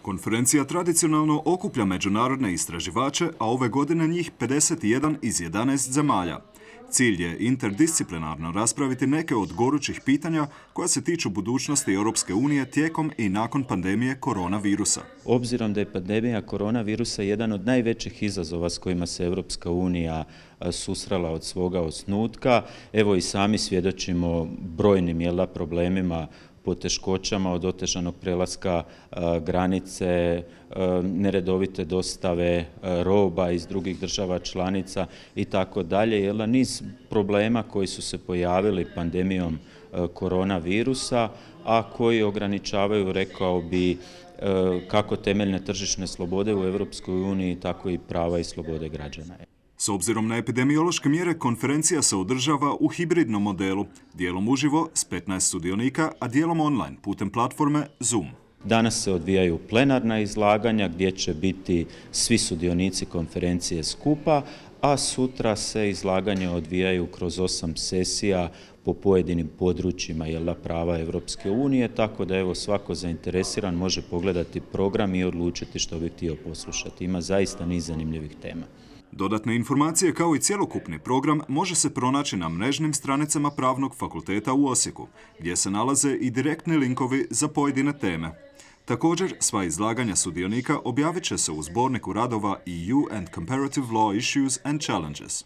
Konferencija tradicionalno okuplja međunarodne istraživače, a ove godine njih 51 iz 11 zemalja. Cilj je interdisciplinarno raspraviti neke od gorućih pitanja koja se tiču budućnosti Europske unije tijekom i nakon pandemije koronavirusa. Obzirom da je pandemija koronavirusa jedan od najvećih izazova s kojima se Europska unija susrela od svoga osnutka, evo i sami svjedočimo brojnim problemima, poteškoćama od otežanog prelaska granice, neredovite dostave roba iz drugih država članica i tako dalje. Niz problema koji su se pojavili pandemijom koronavirusa, a koji ograničavaju, rekao bi, kako temeljne tržišne slobode u Europskoj uniji, tako i prava i slobode građana. S obzirom na epidemiološke mjere, konferencija se održava u hibridnom modelu, dijelom uživo s 15 sudionika, a dijelom online putem platforme Zoom. Danas se odvijaju plenarna izlaganja gdje će biti svi sudionici konferencije skupa, a sutra se izlaganja odvijaju kroz 8 sesija po pojedinim područjima prava Europske unije, tako da svako zainteresiran može pogledati program i odlučiti što bi htio poslušati. Ima zaista niz zanimljivih tema. Dodatne informacije kao i cjelokupni program može se pronaći na mrežnim stranicama Pravnog fakulteta u Osijeku, gdje se nalaze i direktni linkovi za pojedine teme. Također, sva izlaganja sudionika objavit će se u zborniku radova EU and Comparative Law Issues and Challenges.